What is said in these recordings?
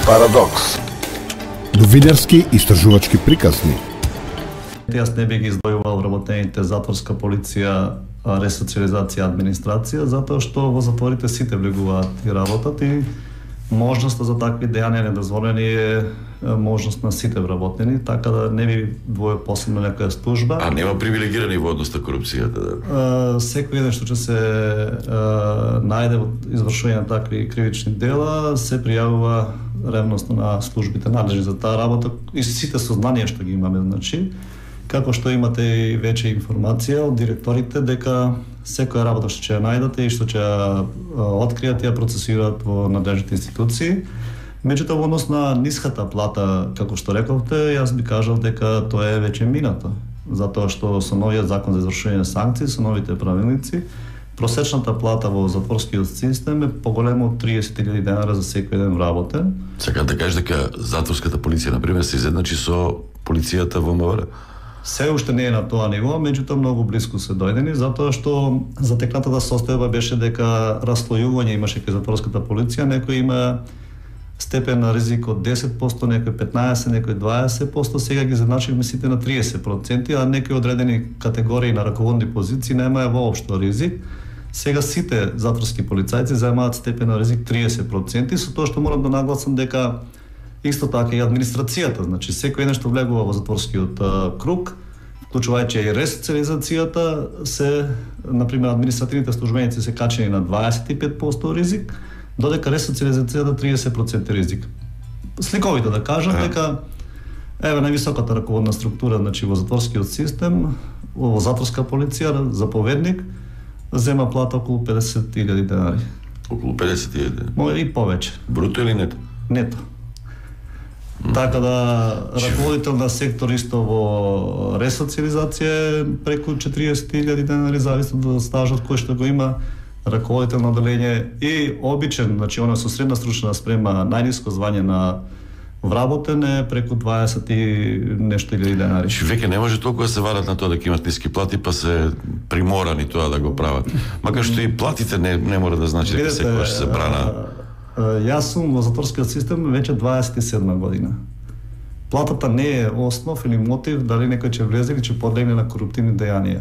Парадокс. Новинарски истражувачки приказни. Јас не би ги издвојувал вработените затворска полиција, ресоциализација, администрација, затоа што во затворите сите влегуваат и работат и можноста за такви дејанија недозволени е можност на сите вработени, така да не би двој посебно некоја служба. А нема привилегирани во однос на корупцијата, да? Секој еден што ќе се најде во извршување на такви кривични дела, се пријавува ревносно на службите надлежни за таа работа и сите сознанија што ги имаме, значи, како што имате и веќе информација од директорите дека секоја работа што ќе ја најдете и што ќе ја откријат ја процесираат во надлежните институции. Меѓутоа, во однос на ниската плата, како што рековте, јас би кажал дека тоа е веќе минато, затоа што со новиот закон за извршување санкции, со новите правилници, просечната плата во затворскиот систем е поголема од 30.000 денари за секој еден вработен. Сакам да кажеш дека затворската полиција, например, се изедначи со полицијата во МВР? Се уште не е на тоа ниво, меѓутоа многу близко се дојдени, затоа што затекнатата состојба беше дека раслојување имаше кај затворската полиција, некој има степен на ризик од 10%, некој 15%, некој 20%, сега ги задначивме сите на 30%, а некои одредени категории на раководни позиции немаја воопшто ризик. Сега сите затворски полицајци заемаат степен на ризик 30%, со тоа што морам да нагласам дека исто така и администрацијата, значи секој еден што влегува во затворскиот круг, вклучувајќи и ресоциализацијата, се, например, административните службеници се качени на 25% ризик, додека ресоциализацијата 30% ризик. Сликовито да кажам дека еве највисоката раководна структура, значи во затворскиот систем, во затворска полиција, заповедник зема плата околу 50.000 денари. Околу 50.000? Може и повеќе. Бруто или нето? Нето. Така да раководител на сектор исто во ресоциализација е преку 40.000 денари, зависно од стажот кој што го има, раководител на оделение и обичен, значи оно со средна стручна спрема, најниско звање на вработен е преку 20 и нешто илјади денари. Веќе не може толку да се варат на тоа дека имат ниски плати, па се приморани тоа да го прават. Макар што и платите не мора да значи дека секогаш се брана. Јас сум во затворскиот систем веќе 27 година. Платата не е основ или мотив дали некој ќе влезе или ќе подлегне на коруптивни дејанија.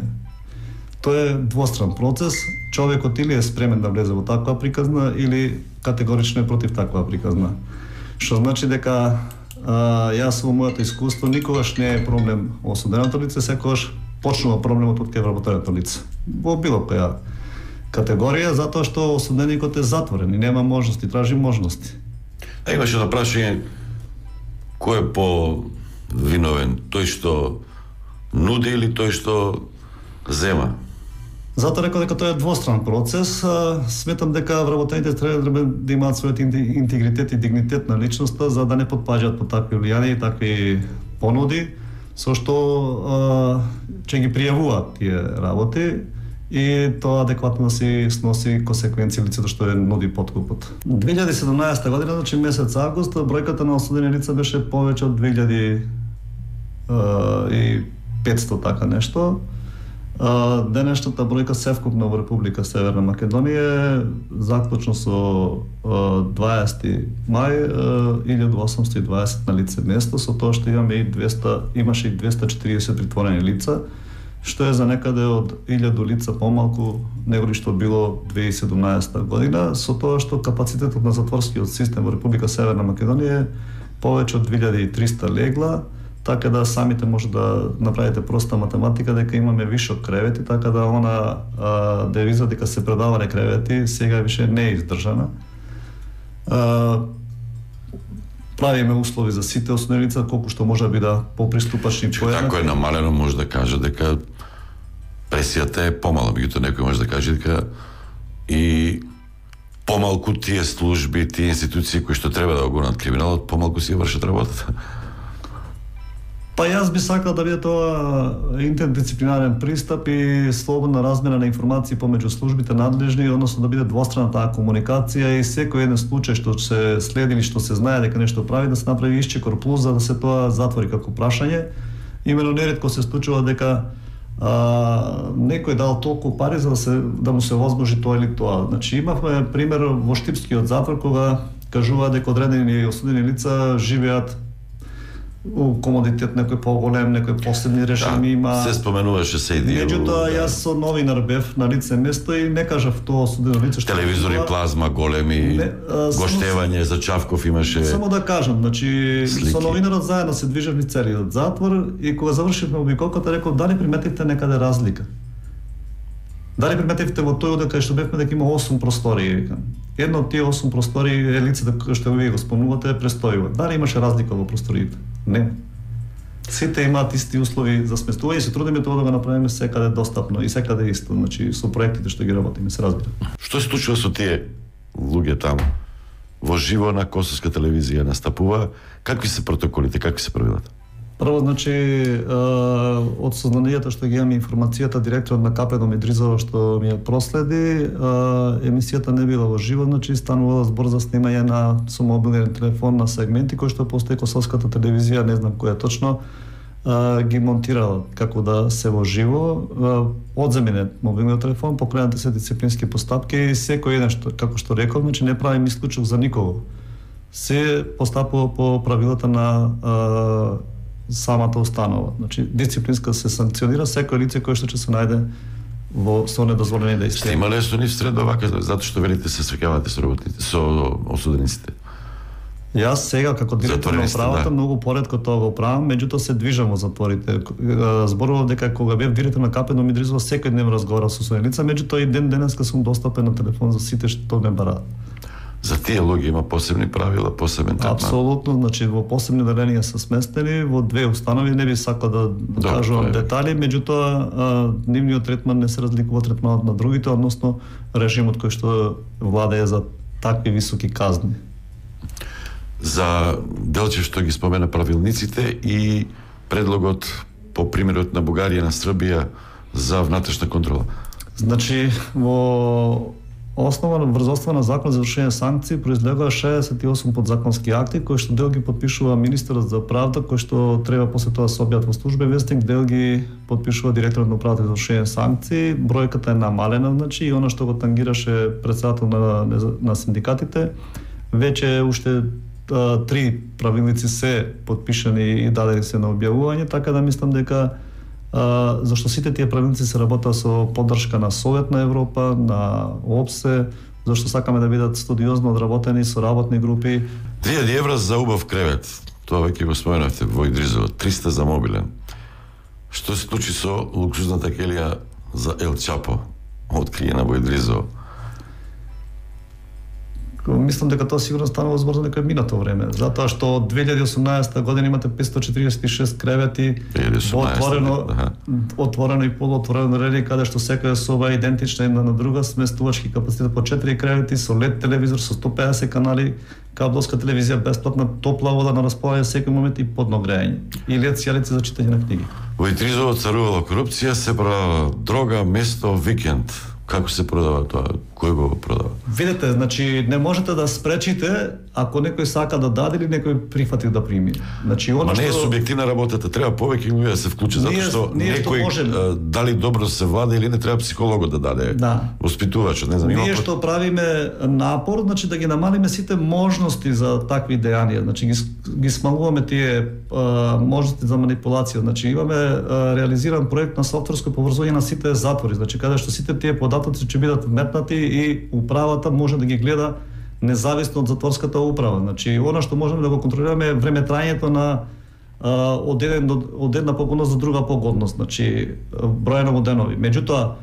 Тоа е двостран процес. Човекот или е спремен да влезе во таква приказна или категорично е против таква приказна. Што значи дека јас во моето искуство никогаш не е проблем осуденото лице, секогаш почнува проблемот од кај вработеното лице. Во било која категорија, затоа што осуденикот е затворен и нема можности, тражи можности. Имаше едно прашање, кој е по-виновен, тој што нуди или тој што зема? Затоа рекол дека тоа е двостран процес. Сметам дека вработените треба да имаат својот интегритет и дигнитет на личноста за да не потпаѓаат по такви влијанија и такви понуди, со што ќе ги пријавуваат тие работи и тоа адекватно да си сноси консеквенции лицето што е нуди подкупот. 2017 година, значи месец август, бројката на осудени лица беше повеќе од 2500 така нешто. Денешната бројка севкупна во Република Северна Македонија заклучно со 20 мај 1820 на лице место, со тоа што имаме и имаше и 240 притворени лица, што е за некаде од 1000 лица помалку него што било 2017 година, со тоа што капацитетот на затворскиот систем во Република Северна Македонија е повеќе од 2300 легла, така да самите може да направите проста математика дека имаме вишок кревети, така да она девиза дека се предавале кревети сега више не е издржана. Правиме услови за сите осудени лица колку што може би да поприступачни поеднакви. Ако е намалено, може да каже дека пресијата е помала, меѓутоа некој може да каже дека и помалку тие служби, тие институции кои што треба да го гонат криминалот, помалку си вршат работата. Па јас би сакал да биде тоа интердисциплинарен пристап и слободна размена на информации помеѓу службите надлежни, односно да биде двострана таа комуникација и секој еден случај што се следи или што се знае дека нешто прави, да се направи исчекор плюс за да се тоа затвори како прашање. Имено неретко се случува дека некој дал толку пари за да му се возможи тоа или тоа. Значи имавме пример во Штипскиот затвор кога кажуваат дека одредени осудени лица живеат у комодитет, некој поголем, некој посебни режими има. Се споменуваше се и Меѓутоа, јас со новинар бев на лице место и не кажав тоа осудено лице што телевизори, плазма, големи, гоштевање за Чавков имаше. Само да кажам, значи слики. Со новинарот заедно се движевме целиот затвор и кога завршивме обиколката реков дали приметивте некаде разлика. Дали приметивте во тој дека што бевме дека има 8 простории, викам. Едно од тие 8 простории е лицето кој што вие го спомнувате престојува. Дали имаше разлика во просториите? Не. Сите имаат исти услови за сместување и се трудиме тоа да го направиме секаде достапно и секаде исто, значи со проектите што ги работиме, се разбира. Што се случува со тие луѓе таму? Во живо на Косовска телевизија настапува, какви се протоколите, какви се правилата? Прво, значи, од сознанието што ги имаме информацијата, директорот на КП Медризово што ми ја проследи, емисијата не била во живо, значи станувала збор за снимање со мобилен телефон на сегменти кои што постои Косовската телевизија, не знам која точно, ги монтирала како да се во живо, одземен е мобилниот телефон, покренати се дисциплински постапки и секој еден што, како што реков, значи не правим исклучок за никого. Се постапува по правилата на самата установа. Значи, дисциплинска се санкционира секој лице кој што ќе се најде со недозволени действија. Сте имале со нив сред овака, затоа што велите се среќавате со работниците, со осудениците? Јас сега како директор на управата многу поретко тоа го правам, меѓутоа се движам во затворите. Зборував дека кога бев директор на КП Медризово секој ден разговарав со осудени лица, меѓутоа и денеска сум достапен на телефон за сите што ме бараат. За тие луѓе има посебни правила, посебен третман? Апсолутно, значи во посебни деленија се сместени во две установи, не би сакал да кажувам детали, меѓутоа нивниот третман не се разликува од третманот на другите, односно режимот кој што владее за такви високи казни. За делче што ги спомена правилниците и предлогот по примерот на Бугарија на Србија за внатрешна контрола. Значи во основа на врзоства на закон за вршење санкции произлегува 68 подзаконски акти кои што дел ги подпишува министерот за правда, кој што треба после тоа се објават во службен вестник, дел ги подпишува директорот на управата за вршење санкции. Бројката е намалена, значи и она што го тангираше председател на синдикатите, веќе уште 3 правилници се подпишани и дадени се на објавување, така да мислам дека зашто сите тие правилници се работат со поддршка на Совет на Европа, на ОПСЕ, зашто сакаме да бидат студиозно одработени со работни групи. 2000 евра за убав кревет, тоа веќе го споменавте во Идризово, 300 за мобилен. Што се случи со луксузната келија за Ел Чапо, откриена во Идризово? Мислам дека тоа сигурно станува збор за некој минато време, затоа што од 2018 година имате 546 кревети, отворено и полуотворено рели каде што секоја соба е идентична една на друга, сместувачки капацитет по 4 кревети со LED телевизор со 150 канали, кабелска телевизија, бесплатна топла вода на располагање секој момент и подно грејање и LED сјалици за читање на книги. Во Идризово царувала корупција, се продава дрога, место, викенд. Како се продава тоа? Кој го продава? Видете, значи не можете да спречите ако некој сака да даде или некој прифати да прими. Значи она не е субјективна работата, треба повеќе луѓе да се вклучат, затоа што некој дали добро се владе или не, треба психологот да даде. Воспитувачот, не знам, ние што правиме напор, значи да ги намалиме сите можности за такви дејанија, значи ги смалуваме тие можности за манипулација. Значи имаме реализиран проект на софтверско поврзување на сите затвори, значи каде што сите тие податоци ќе бидат вметнати и управата може да ги гледа независно од затворската управа. Значи, она што можеме да го контролираме е времетрањето на од една погодност до друга погодност, значи бројано во денови. Меѓутоа,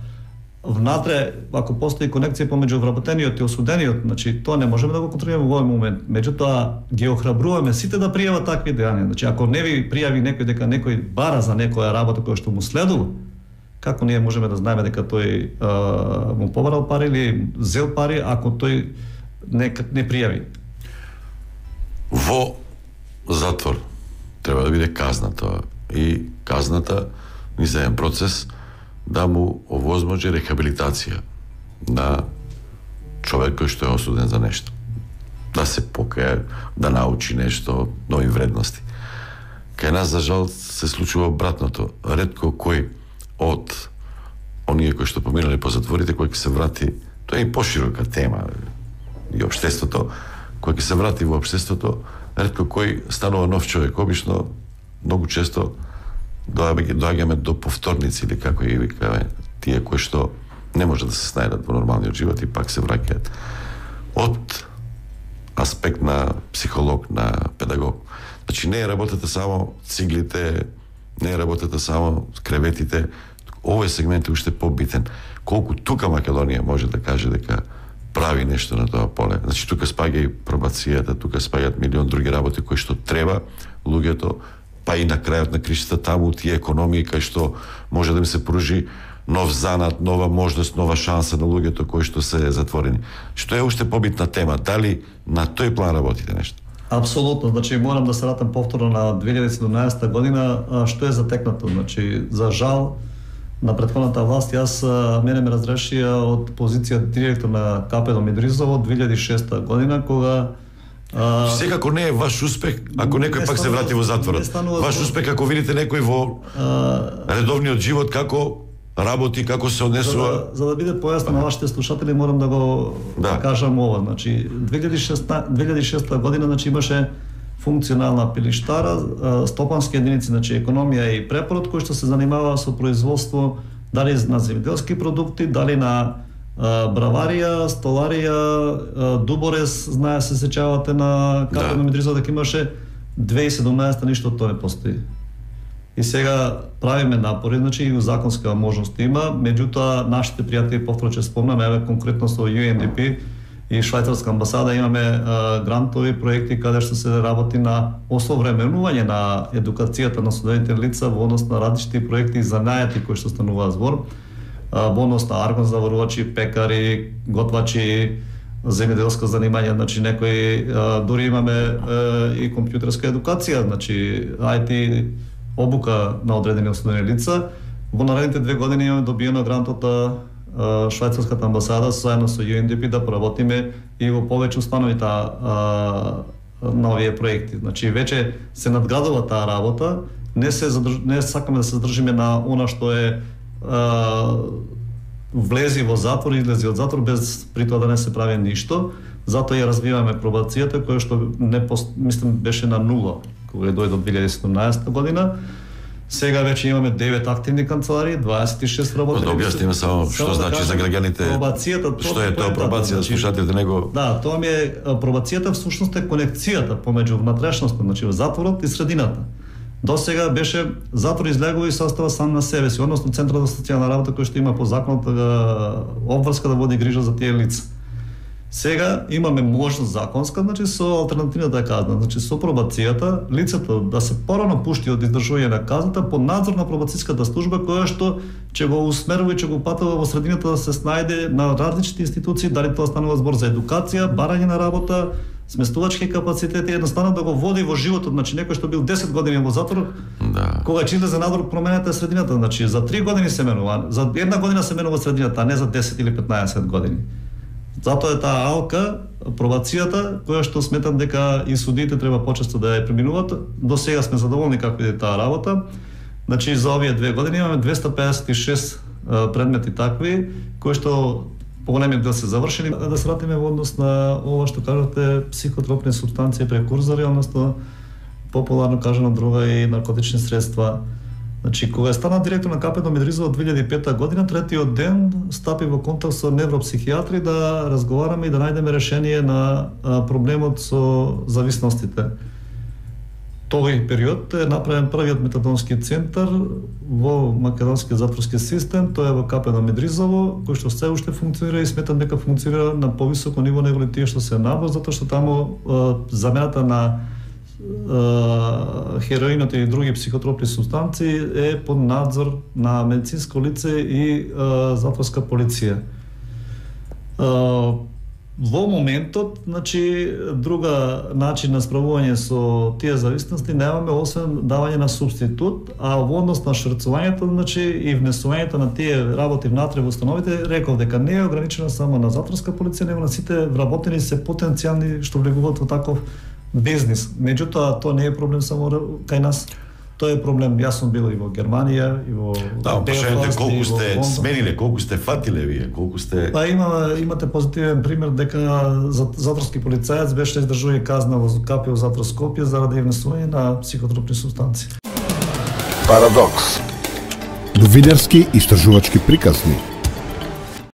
внатре, ако постои конекција помеѓу вработениот и осудениот, значи тоа не можеме да го контролираме во овој момент. Меѓутоа, ги охрабруваме сите да пријават такви дејанија. Значи, ако не ви пријави некој дека некој бара за некоја работа која што му следува, како ние можеме да знаеме дека тој му побарал пари или зел пари ако тој не пријави? Во затвор треба да биде казната и казната низ еден процес да му овозможи рехабилитација на човек кој што е осуден за нешто. Да се покае, да научи нешто, нови вредности. Кај нас, за жал, се случува обратното. Ретко кој од оние кои што поминале по затворите, кој ќе се врати, тоа е и поширока тема и општеството, кога ќе се врати во општеството, ретко кој станува нов човек. Обично, многу често доаѓаме до повторници или како ги викаме, тие кои што не може да се снајдат во нормалниот живот и пак се враќаат. Од аспект на психолог, на педагог. Значи не е работата само циглите, не е работата само креветите. Овој сегмент е уште побитен. Колку тука Македонија може да каже дека прави нешто на тоа поле. Значи тука спаѓа и пробацијата, тука спаѓаат милион други работи кои што треба луѓето, па и на крајот на кришта таму тие економии кај што може да им се пружи нов занат, нова можност, нова шанса на луѓето кои што се затворени. Што е уште побитна тема, дали на тој план работите нешто? Апсолутно, значи морам да се вратам повторно на 2017 година, што е затекнато. Значи, за жал, на претходната власт, мене ме разрешија од позиција директор на КПД Мидризово 2006 година, кога секако не е ваш успех ако некој пак се врати во затворот. Ваш успех ако видите некој во редовниот живот како работи, како се однесува. За да биде појасно на вашите слушатели, морам да го кажам ова. Значи 2006 година имаше функционална пилиштара, стопански единици, значи економија и препорот, кој што се занимава со производство дали на земјоделски продукти, дали на браварија, столарија, дуборез, знае се сеќавате на КПД Мидризово дека имаше 2017 ништо тоа не постои. И сега правиме напори, значи и законска можност има, меѓутоа нашите пријатели, повторно ќе спомнам, еве конкретно со UNDP и Швајцарска амбасада имаме грантови проекти каде што се работи на осовременување на едукацијата на студентите лица во однос на различни проекти за најати кои што стануваат збор, во однос на аргонзаварувачи, пекари, готвачи, земјоделско занимање, значи некои дури имаме и компјутерска едукација, значи IT обука на одредени осудени лица. Во наредните 2 години имаме добиено грант од Швајцарската амбасада заедно со UNDP да поработиме и во повеќе установи на овие проекти. Значи веќе се надградува таа работа, не сакаме да се задржиме на она што е влези во затвор и излези од затвор без при тоа да не се прави ништо. Затоа ја развиваме пробацијата која што мислам беше на нула кога дојде до 2017 година. Сега веќе имаме 9 активни канцеларии, 26 работници. Да објасниме само што значи за граѓаните. Пробацијата, што е тоа пробација, слушателите него. Да, тоа ми е пробацијата всушност е конекцијата помеѓу внатрешноста, значи затворот и средината. До сега беше затвор излегува и состава сам на себе си, односно Центарот за социјална работа кој што има по законот обврска да води грижа за тие лица. Сега имаме можност законска, значи со алтернативната казна, значи со пробацијата, лицето да се порано пушти од издржување на казната под надзор на пробацијската служба која што ќе го усмерува и ќе го патува во средината да се снајде на различни институции, дали тоа станува збор за едукација, барање на работа, сместувачки капацитети, едноставно да го води во животот, значи некој што бил 10 години во затвор, кога ќе излезе надвор променета средината, значи за 3 години се менува, за 1 година се менува средината, а не за 10 или 15 години. Затоа е таа алка, пробацијата, која што сметам дека и судиите треба почесто да ја преминуваат. До сега сме задоволни како иде таа работа. Значи за овие 2 години имаме 256 предмети такви, кои што поголемиот дел се завршени. Да се вратиме во однос на ова што кажате, психотропни супстанции, прекурзори, односно популарно кажано друга и наркотични средства. Значи, кога стана директор на КПД Мидризово 2005 година, третиот ден стапи во контакт со невропсихијатри да разговараме и да најдеме решение на проблемот со зависностите. Тој период е направен првиот метадонски центар во македонскиот затворски систем, тоа е во КПД Мидризово, кој што се уште функционира и сметам дека функционира на повисоко ниво него тие што се набор, затоа што таму замената на хероинот и други психотропни супстанции е под надзор на медицинско лице и затворска полиција. Во моментот, значи, друга начин на справување со тие зависности немаме освен давање на субститут, а во однос на шрцувањето, значи, и внесувањето на тие работи внатре во установите, реков дека не е ограничено само на затворска полиција, него на сите вработени се потенцијални што влегуваат во таков бизнис. Меѓутоа, тоа не е проблем само кај нас. Тоа е проблем. Јас сум бил и во Германија, и во Белфаст, колку сте смениле, колку сте фатиле вие, колку сте... Па имате позитивен пример дека затворски полицаец беше издржува казна во КПУ затвор Скопје заради внесување на психотропни супстанции. Парадокс. Новинарски истражувачки приказни.